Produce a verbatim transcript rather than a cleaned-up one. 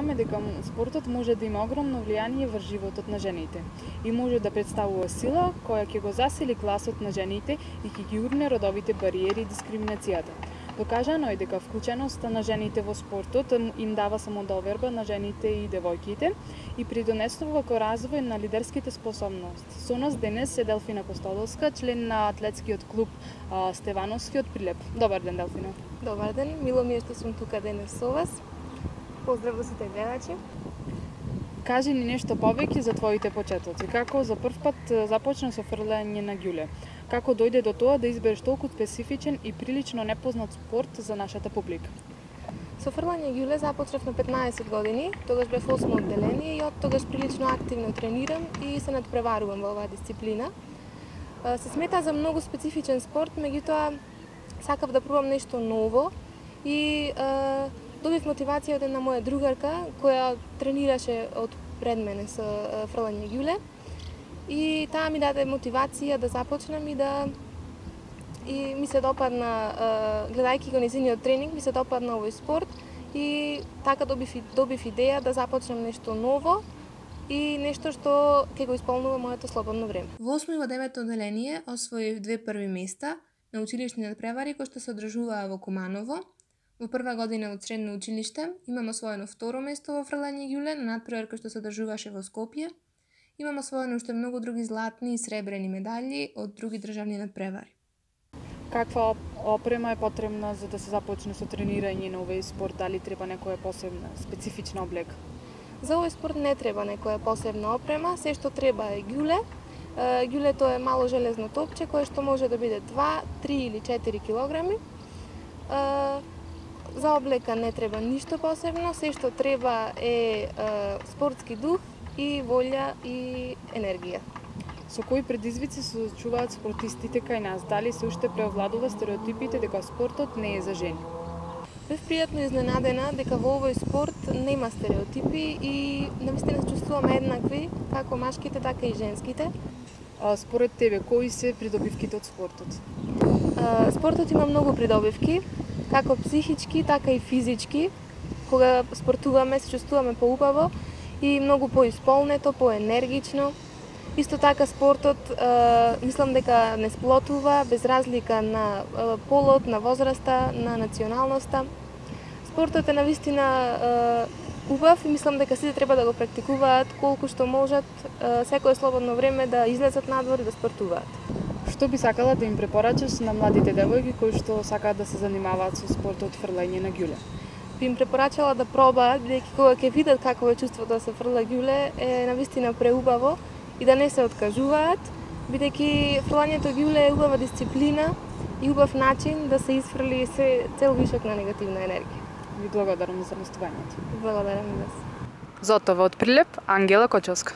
зборуваме дека спортот може да има огромно влијание врз животот на жените и може да представува сила која ќе го засили гласот на жените и ќе ги урне родовите бариери и дискриминацијата. Докажано е дека вклученоста на жените во спортот им дава самодоверба на жените и девојките и придонесува кон развој на лидерските способности. Со нас денес е Делфина Костодолска, член на атлетскиот клуб Стевановски од Прилеп. Добар ден, Делфина. Добар ден, мило ми е што сум тука денес со вас. Поздрав до сите гледачи. Кажи ни нешто повеќе за твоите почетоци. Како за прв пат започна со фрлање на ѓуле? Како дојде до тоа да избереш толку специфичен и прилично непознат спорт за нашата публика? Со фрлање ѓуле започнав на петнаесет години, тогаш бев осмо одделение и од тогаш прилично активно тренирам и се надпреварувам во оваа дисциплина. Се смета за многу специфичен спорт, меѓутоа сакав да пробам нешто ново и е, добив мотивација од една моја другарка која тренираше од пред мене со фрлање ѓуле. И таа ми даде мотивација да започнам и да и ми се допадна, гледајќи го незиниот тренинг, ми се допадна овој спорт и така добив, добив идеја да започнам нешто ново и нешто што ќе го исполнува моето слободно време. Во осмо и во девето одделение освоив две први места на училишни надпревари кои што се одржуваа во Куманово. Во прва година од средно училиште имам освоено второ место во фрлање ѓуле на надпревар кој што се одржуваше во Скопје. Имам освоено уште многу други златни и сребрени медали од други државни надпревари. Каква опрема е потребна за да се започне со тренирање на овој спорт? Дали треба некоја посебна, специфична облека? За овој спорт не треба некоја посебна опрема, се што треба е ѓуле. Ѓулето е мало железно топче кое што може да биде два, три или четири килограми. За облека не треба ништо посебно, се што треба е спортски дух и волја и енергија. Со кои предизвици се соочуваат спортистите кај нас? Дали се уште преовладува стереотипите дека спортот не е за жени? Бев пријатно изненадена дека во овој спорт нема стереотипи и навистина се чувствуваме еднакви, како машките, така и женските. А, според тебе, кои се придобивките од спортот? А, спортот има многу придобивки, како психички, така и физички. Кога спортуваме, се чувствуваме поубаво и многу поисполнето, поенергично. Исто така спортот, е, мислам дека не сплотува без разлика на е, полот, на возраста, на националноста. Спортот е навистина е, убав и мислам дека сите треба да го практикуваат колку што можат, е, секое слободно време да излезат надвор и да спортуваат. Што би сакала да им препорачаш на младите девојки кои што сакаат да се занимаваат со спортот фрлање на ѓуле? Би им препорачала да пробаат, бидејќи кога ќе видат какво е чувството да се фрла ѓуле, е навистина преубаво и да не се откажуваат, бидејќи фрлањето ѓуле е убава дисциплина и убав начин да се изфрли се цел вишок на негативна енергија. Ви благодарам за гостувањето. Благодарам и вас. За од Прилеп, Ангела Кочовска.